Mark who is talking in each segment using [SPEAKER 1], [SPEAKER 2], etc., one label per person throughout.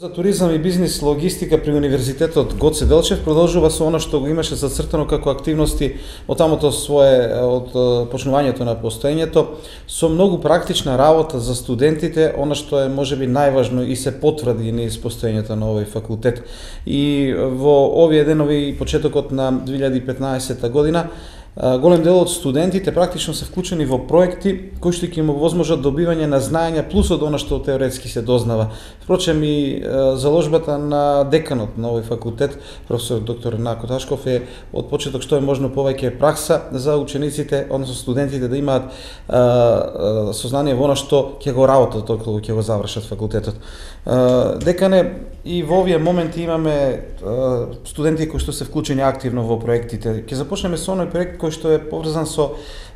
[SPEAKER 1] За туризам и бизнис логистика при Универзитетот Гоце Делчев продолжува со она што го имаше зацртано како активности од почнувањето на постоењето, со многу практична работа за студентите, она што е можеби најважно и се потврди низ постоењето на овој факултет. И во овие денови, почетокот на 2015 година, голем дел од студентите практично се вклучени во проекти кои што ќе им овозможат добивање на знаења плюс од она што теоретски се дознава. Впрочем и заложбата на деканот на овој факултет, професор доктор Нако Ташков, е од почеток што е можно повеќе пракса за учениците, односно студентите да имаат сознание во она што ќе го работат кога ќе го завршат факултетот. Декане, и во овие моменти имаме студенти кои што се вклучени активно во проектите. Ќе започнеме со оној проект кој што е поврзан со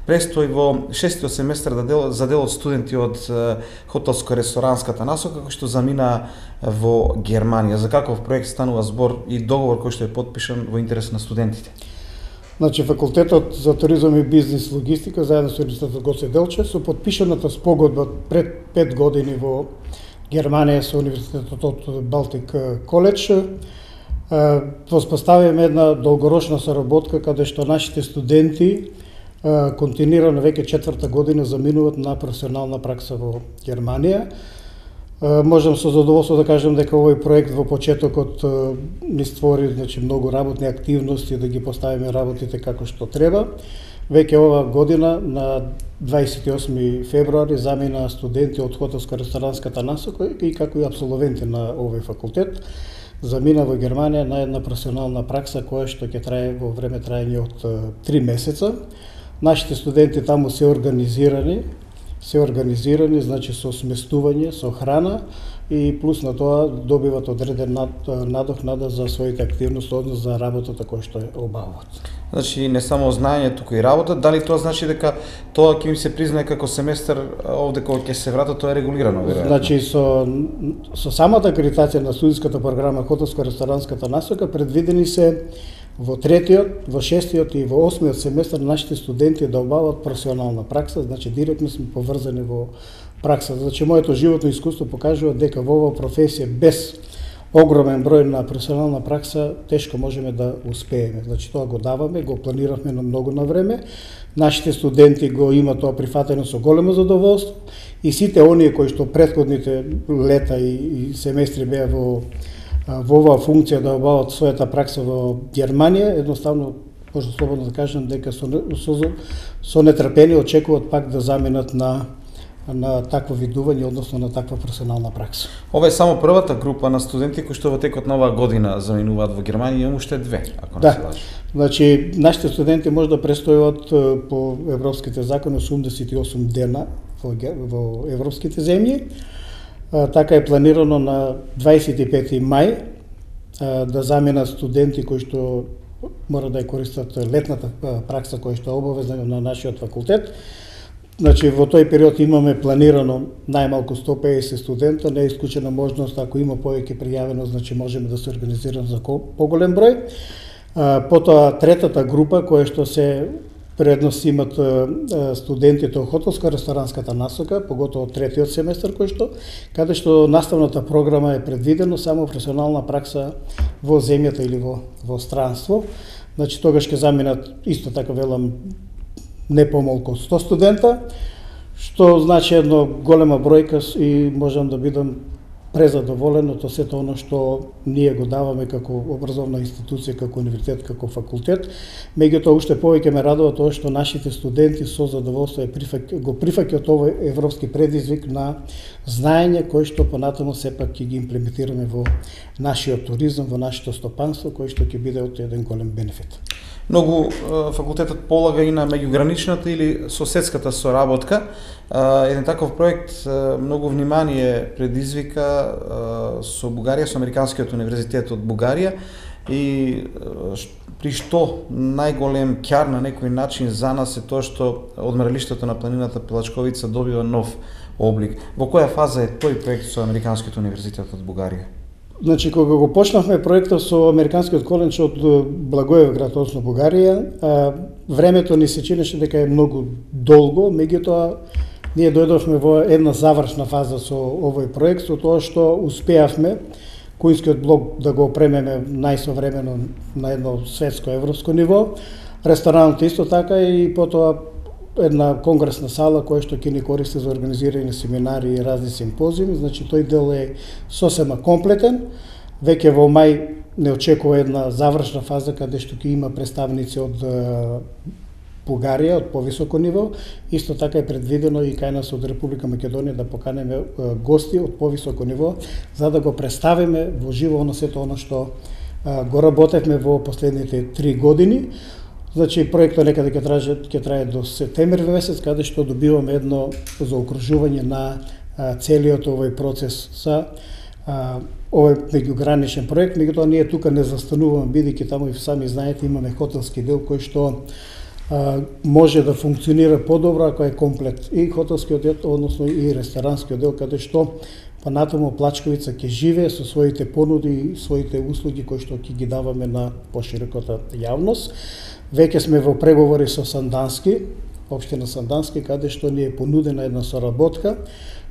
[SPEAKER 1] престој во 6-тиот семестар за дел од студенти од хотелско-ресторанската насока кој што замина во Германија. За каков проект станува збор и договор кој што е потпишан во интерес на студентите?
[SPEAKER 2] Значи, факултетот за туризам и бизнис логистика заедно со Универзитетот Гоце Делчев со потпишаната спогодба пред 5 години во Германија со Универзитетот од Балтик Коледж, воспоставиме една долгорочна соработка каде што нашите студенти континуирано веќе 4-та година заминуваат на професионална пракса во Германија. Можам со задоволство да кажам дека овој проект во почетокот ни створи многу работни активности да ги поставиме работите како што треба. Веќе ова година на 28 февруари замина студенти од хотелско-ресторанската насока и како и апсолвенти на овој факултет замина во Германија на една професионална пракса која што ќе трае во време траење од 3 месеца. Нашите студенти таму се организирани, значи со сместување, со храна и плюс на тоа добиват одреден надокнада за своите активности, односно за работата која што ја обавуваат.
[SPEAKER 1] Значи не само знаење, туку и работа. Дали тоа значи дека тоа ќе им се признае како семестар овде кога ќе се вратат, тоа е регулирано, веројатно?
[SPEAKER 2] Значи со самата акредитација на студентската програма хотелско-ресторанската насока предвидени се во 3-тиот, во 6-тиот и во 8-тиот семестар нашите студенти да обават професионална пракса, значи директно сме поврзани во праксата. Значи моето животно искуство покажува дека во оваа професија без огромен број на професионална пракса тешко можеме да успееме. Значи тоа го даваме, го планиравме на многу на време. Нашите студенти го имаат тоа прифатено со големо задоволство и сите оние кои што претходните лета и семестри беа во оваа функција да обават својата пракса во Германија, едноставно може слободно да кажам дека со нетрпение очекуваат пак да заминат на такво видување, односно на таква професионална пракса.
[SPEAKER 1] Ова е само првата група на студенти кои што во текот на оваа година заминуваат во Германија, има уште 2, ако не се лажам.
[SPEAKER 2] Значи нашите студенти може да престојуват по европските закони 88 дена во европските земји. Така е планирано на 25 мај да заминат студенти кои што мора да ја користат летната пракса која што е обавезна на нашиот факултет. Значи во тој период имаме планирано најмалку 150 студента, не е исклучена можност ако има повеќе пријавено, значи можеме да се организираме за поголем број. Потоа третата група која што се предност имат студентите од хотелско-ресторанската насока, поготово 3-тиот семестар каде што наставната програма е предвидено само професионална пракса во земјата или во странство. Значи тогаш ќе заминат исто така велам не помалку од 100 студента, што значи една голема бројка и можам да бидам презадоволен од сето оно што ние го даваме како образовна институција, како универзитет, како факултет. Меѓутоа уште повеќе ме радува тоа што нашите студенти со задоволство го прифаќаат овој европски предизвик на знаење кој што понатаму сепак ќе ги имплементираме во нашиот туризам, во нашето стопанство, кој што ќе биде од еден голем бенефит.
[SPEAKER 1] Многу факултетот полага и на меѓуграничната или соседската соработка. Еден таков проект многу внимание предизвика со Бугарија, со Американскиот универзитет од Бугарија и при што најголем ќар на некој начин за нас е тоа што одморалиштето на планината Пелачковица добива нов облик. Во која фаза е тој проект со Американскиот универзитет од Бугарија?
[SPEAKER 2] Значи, кога го почнавме проектот со Американскиот коледж од Благоевград, односно Бугарија, времето ни се чинеше дека е многу долго, меѓутоа ние дојдовме во една завршна фаза со овој проект, со тоа што успеавме кујнскиот блок да го опремеме најсовремено на едно светско европско ниво. Ресторанот исто така и потоа една конгресна сала која што ќе ни користи за организирање семинари и разни симпозиуми, значи тој дел е сосема комплетен. Веќе во мај не очекува една завршна фаза каде што ќе има представници од Бугарија од повисоко ниво. Исто така е предвидено и кај нас од Република Македонија да поканеме гости од повисоко ниво за да го представиме во живо на сето оно што го работевме во последните 3 години. Значи проектот некаде ќе трае до септември месец, каде што добиваме едно заокружување на целиот овој процес за овој меѓуграничен проект. Меѓутоа ние тука не застануваме, бидејќи таму и сами знаете имаме хотелски дел кој што може да функционира подобро ако е комплет и хотелскиот дел, односно и ресторанскиот дел, каде што понатаму Плачковица ќе живее со своите понуди и своите услуги кои што ќе ги даваме на пошироката јавност. Веќе сме во преговори со Сандански, општина Сандански, каде што ни е понудена една соработка.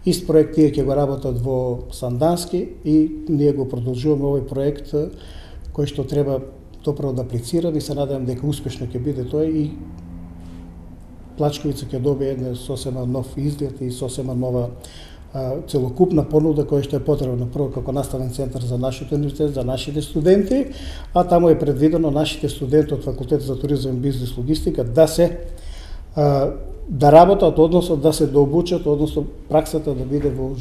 [SPEAKER 2] Ист проект тие ќе го работат во Сандански и ние го продолжуваме овој проект кој што треба доправо да аплицираме и се надевам дека успешно ќе биде тој и Плачковица ќе добие еден сосема нов изглед и сосема нова целокупна понуда која што е потребна прво како наставен центар за нашиот универзитет, за нашите студенти, а таму е предвидено нашите студенти од Факултет за туризам и бизнес логистика да се да работат, односно да се дообучат, односно праксата да биде во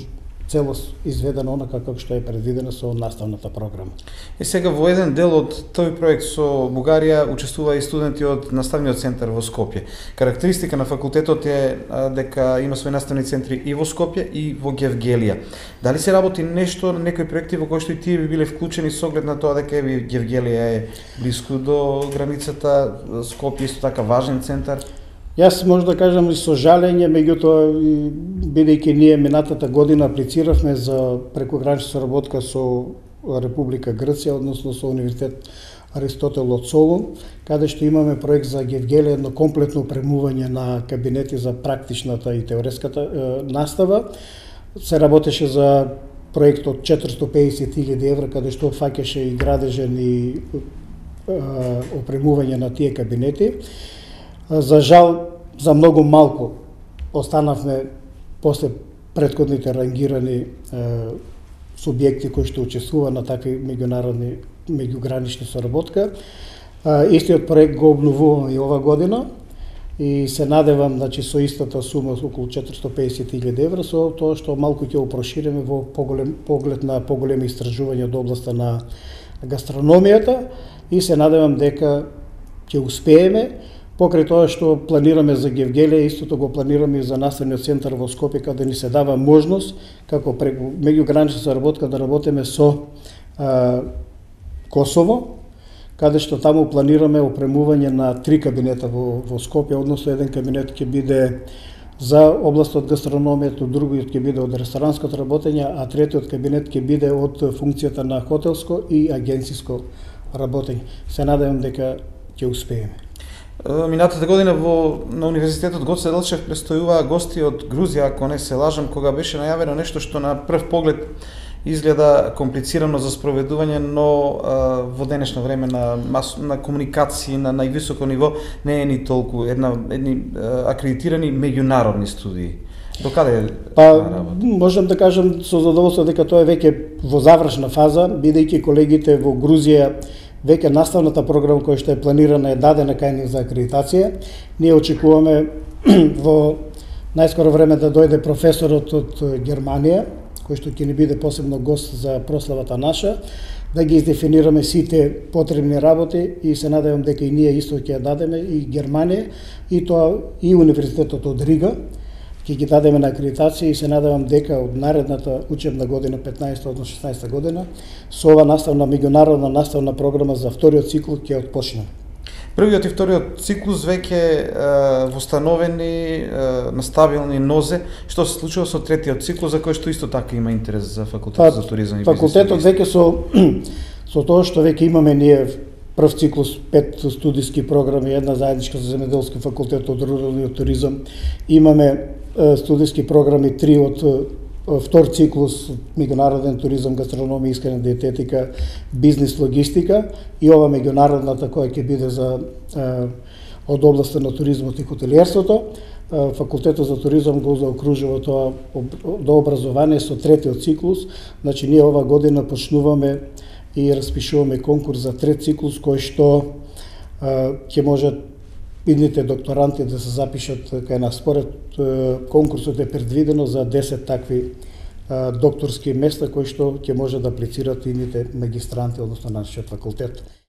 [SPEAKER 2] целост изведена онака како што е предвидена со наставната програма.
[SPEAKER 1] И сега во еден дел од тој проект со Бугарија учествува и студенти од наставниот центар во Скопје. Карактеристика на факултетот е дека има своји наставни центри и во Скопје и во Гевгелија. Дали се работи нешто на некои проекти во кои што и тие би биле вклучени со оглед на тоа дека Гевгелија е блиску до границата, Скопје исто така важен центар?
[SPEAKER 2] Јас може да кажам и со жалење, меѓутоа бидејќи ние минатата година аплициравме за прекогранична соработка со Република Грција, односно со Универзитет Аристотел од Солун, каде што имаме проект за Гевгелија, едно комплетно опремување на кабинети за практичната и теоретската настава. Се работеше за проект од 450.000 евра, каде што фаќаше и градежен и опремување на тие кабинети. За жал, за многу малку останавме после претходните рангирани субјекти кои што учествува на такви меѓународни меѓугранични соработка. Истиот проект го обновуваме и ова година и се надевам со истата сума околу 450.000 евра со тоа што малку ќе го прошириме во поглед на поголеми истражувања од областа на гастрономијата и се надевам дека ќе успееме. Покрај тоа што планираме за Гевгелија, истото го планираме и за наставниот центар во Скопје, каде ни се дава можност како преку меѓугранична соработка да работиме со Косово, каде што таму планираме опремување на 3 кабинета во Скопје, односно еден кабинет ќе биде за областот гастрономијата, другиот ќе биде од ресторанското работење, а третиот кабинет ќе биде од функцијата на хотелско и агенциско работење. Се надевам дека ќе успееме.
[SPEAKER 1] Минатата година на Универзитетот Гоце Делчев престојуваа гости од Грузија, ако не се лажам, кога беше најавено нешто што на прв поглед изгледа комплицирано за спроведување, но во денешно време на комуникација на највисоко ниво не е ни толку едни акредитирани меѓународни студии. До каде работа?
[SPEAKER 2] Можам да кажам со задоволство дека тоа е веќе во завршна фаза, бидејќи колегите во Грузија веќе наставната програма која што е планирана е дадена кај нив за акредитација. Ние очекуваме во најскоро време да дојде професорот од Германија, кој што ќе ни биде посебно гост за прославата наша, да ги издефинираме сите потребни работи и се надевам дека и ние исто ќе ја дадеме и Германија и тоа и Универзитетот од Рига ќе ги дадеме на акредитација и се надевам дека од наредната учебна година 15 од 16 година со ова наставна меѓународна наставна програма за вториот цикл ќе отпочнеме.
[SPEAKER 1] Првиот и вториот циклус веќе востановени на стабилни нозе. Што се случува со третиот циклус за кој што исто така има интерес за Факултетот за туризам и бизнес?
[SPEAKER 2] Факултетот веќе со тоа што веќе имаме ние прв циклус 5 студиски програми, една заедничка за земјоделски факултет од руралниот туризам. Имаме студиски програми 3 од втор циклус меѓународен туризам, гастрономија, исхрана, диететика, бизнис, логистика и ова меѓународната која ќе биде за од областта на туризмот и хотелиерството. Факултетот за туризам го заокружува тоа до образование со третиот циклус. Значи ние ова година почнуваме и распишуваме конкурс за трет циклус кој што ќе можат идните докторанти да се запишат кај нас. Според конкурсот е предвидено за 10 такви докторски места кои што ќе може да аплицираат идните магистранти, односно нашиот факултет.